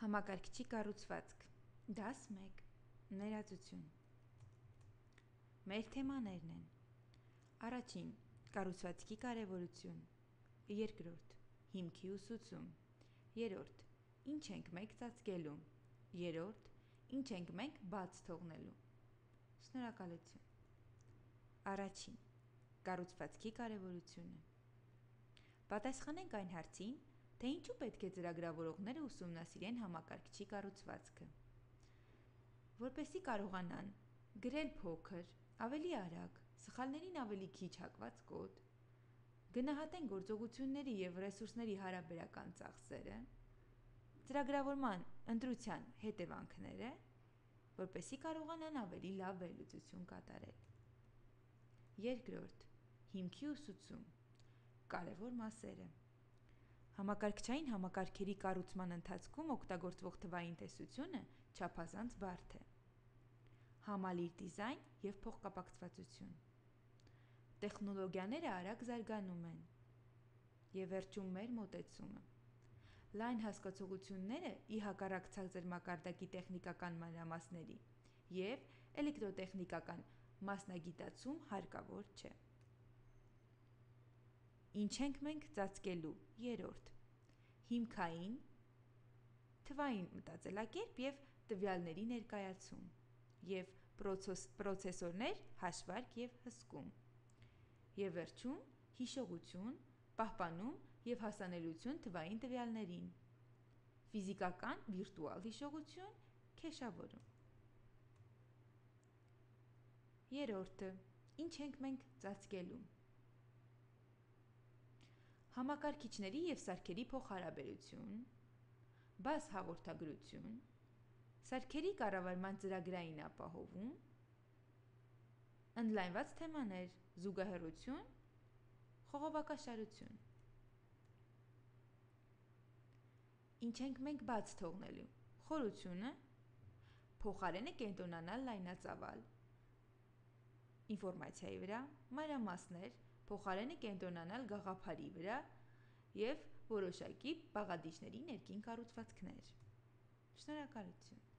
Համակարգչի կառուցվածք, դաս 1, ներածություն։ Մեր թեմաներն են. առաջին՝ կառուցվածքի կարևորություն, երկրորդ՝ հիմքի ուսուցում, երրորդ՝ ինչ ենք մենք ծածկելու, երրորդ՝ ինչ ենք մենք բաց թողնելու։ Շնորհակալություն։ Առաջին՝ կառուցվածքի կարևորությունը։ Պատասխանենք այն հարցին, թե ինչու պետք է ծրագրավորողները ուսումնասիրեն համակարգչի կառուցվածքը։ Որպեսզի կարողանան գրել փոքր, ավելի արագ, սխալներին ավելի քիչ հակված կոդ, գնահատեն գործողությունների և ռեսուրսների հարաբերական ծախսերը, ծրագրավորման ընտրության հետևանքները, որպեսզի կարողանան ավելի լավ վերլուծություն կատարել։ Երկրորդ՝ հիմքի ուսուցում, կարևոր մասերը։ Համակարգչային համակարգերի կառուցման ընթացքում օգտագործվող թվային տեսությունը չափազանց բարդ է։ Համալիր դիզայն և փոխկապակցվածություն։ Տեխնոլոգիաները արագ զարգանում են։ Եվ վերջում մեր մոտեցումը։ Լայն հասկացությունները ի հակառակ ցածր մակարդակի տեխնիկական մանրամասների և էլեկտրոտեխնիկական մասնագիտացում հարկավոր չէ։ Ինչ ենք մենք ծածկելու, երրորդ։ Հիմքային, թվային մտածելակերպ և տվյալների ներկայացում և պրոցեսորներ, հաշվարկ և հսկում։ Եվ վերջում հիշողություն, պահպանում և հասանելիություն թվային տվյալներին, ֆիզիկական վիրտուալ հիշողություն, քեշավորում։ Երրորդը՝ ինչ ենք մենք ծածկելու։ Համակարգիչների և սարքերի փոխհարաբերություն, բաց հաղորդագրություն, սարքերի կառավարման ծրագրային ապահովում, ընդլայնված թեմաներ, զուգահեռություն, խողովակաշարություն։ Ինչ ենք մենք բաց թողնելու, խորությունը, փոխարենը կենտրոնանալ լայնածավալ ինֆորմացիայի վրա, մանրամասներ, փոխարենը կենտրոնանալ գաղափարի վրա և որոշակի բաղադրիչների ներքին կառուցվածքներ։ Շնորհակալություն։